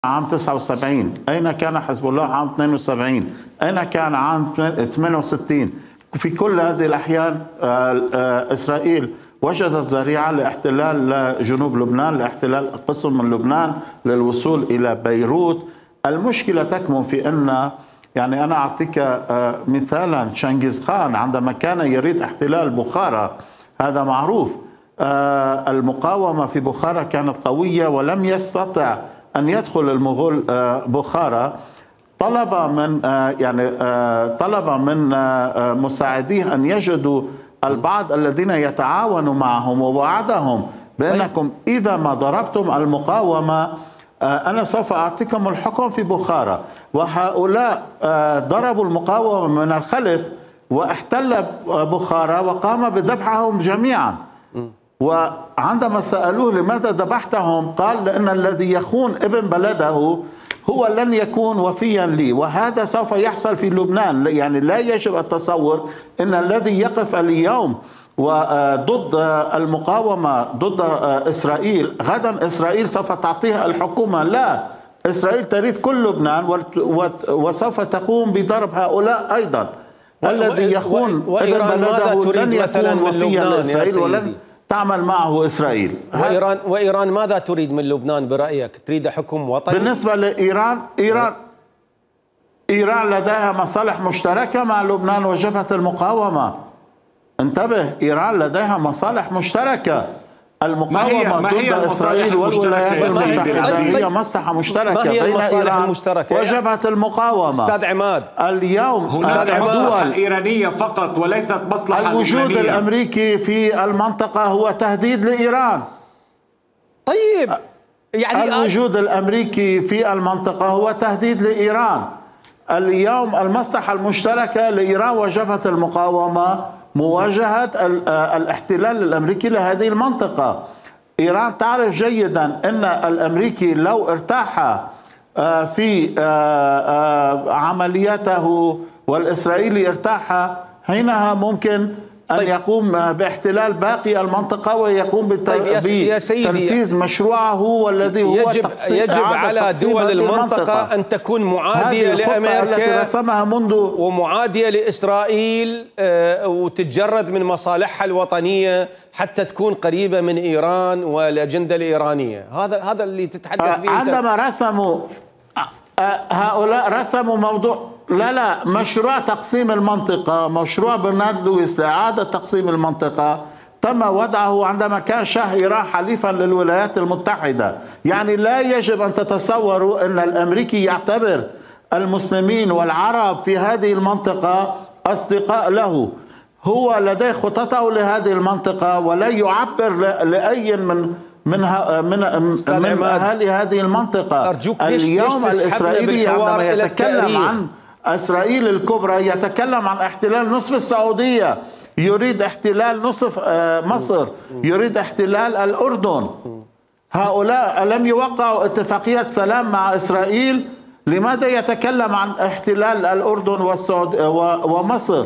عام 79؟ أين كان حزب الله عام 72؟ أين كان عام 68؟ في كل هذه الأحيان إسرائيل وجدت ذريعة لاحتلال جنوب لبنان، لاحتلال قسم من لبنان، للوصول إلى بيروت. المشكلة تكمن في أن يعني أنا أعطيك مثالا، شنغيز خان عندما كان يريد احتلال بخارى، هذا معروف، المقاومة في بخارى كانت قوية ولم يستطع أن يدخل المغول بخارى. طلب من مساعديه أن يجدوا البعض الذين يتعاونوا معهم، ووعدهم بأنكم إذا ما ضربتم المقاومة أنا سوف أعطيكم الحكم في بخارى. وهؤلاء ضربوا المقاومة من الخلف واحتل بخارى وقام بذبحهم جميعا. وعندما سألوه لماذا ذبحتهم قال لأن الذي يخون ابن بلده هو لن يكون وفيا لي، وهذا سوف يحصل في لبنان. يعني لا يجب التصور أن الذي يقف اليوم وضد المقاومة ضد إسرائيل غدا إسرائيل سوف تعطيها الحكومة. لا، إسرائيل تريد كل لبنان وسوف تقوم بضرب هؤلاء أيضا. الذي يخون ابن بلده لن يكون وفيا لإسرائيل ولن تعمل معه إسرائيل. وإيران ماذا تريد من لبنان برأيك؟ تريد حكم وطني؟ بالنسبة لإيران، إيران لديها مصالح مشتركة مع لبنان وجبهة المقاومة. انتبه، إيران لديها مصالح مشتركة. المقاومة ضد إسرائيل والولايات المتحدة هي مصلحة مشتركة بين إيران وجبهة المقاومة. أستاذ عماد، اليوم هناك مصلحة إيرانية فقط وليست مصلحة الوجود لبنانية. الأمريكي في المنطقة هو تهديد لإيران. طيب يعني الوجود الأمريكي في المنطقة هو تهديد لإيران. اليوم المصلحة المشتركة لإيران وجبهة المقاومة مواجهة الاحتلال الأمريكي لهذه المنطقة. إيران تعرف جيدا أن الأمريكي لو ارتاح في عملياته والإسرائيلي ارتاح، حينها ممكن أن يقوم باحتلال باقي المنطقة ويقوم بتنفيذ مشروعه والذي هو يجب على دول المنطقة أن تكون معادية لأمريكا رسمها منذ ومعادية لإسرائيل وتتجرد من مصالحها الوطنية حتى تكون قريبة من إيران والأجندة الإيرانية. هذا اللي تتحدث به. عندما رسموا هؤلاء رسموا موضوع لا مشروع تقسيم المنطقة، مشروع برنارد لويس لإعادة تقسيم المنطقة تم وضعه عندما كان شاه إيران حليفا للولايات المتحدة. يعني لا يجب أن تتصوروا أن الأمريكي يعتبر المسلمين والعرب في هذه المنطقة أصدقاء له. هو لديه خططه لهذه المنطقة ولا يعبر لأي من أهالي هذه المنطقة. اليوم الإسرائيلي عندما يتكلم عن إسرائيل الكبرى يتكلم عن احتلال نصف السعودية، يريد احتلال نصف مصر، يريد احتلال الأردن. هؤلاء لم يوقعوا اتفاقية سلام مع إسرائيل، لماذا يتكلم عن احتلال الأردن ومصر؟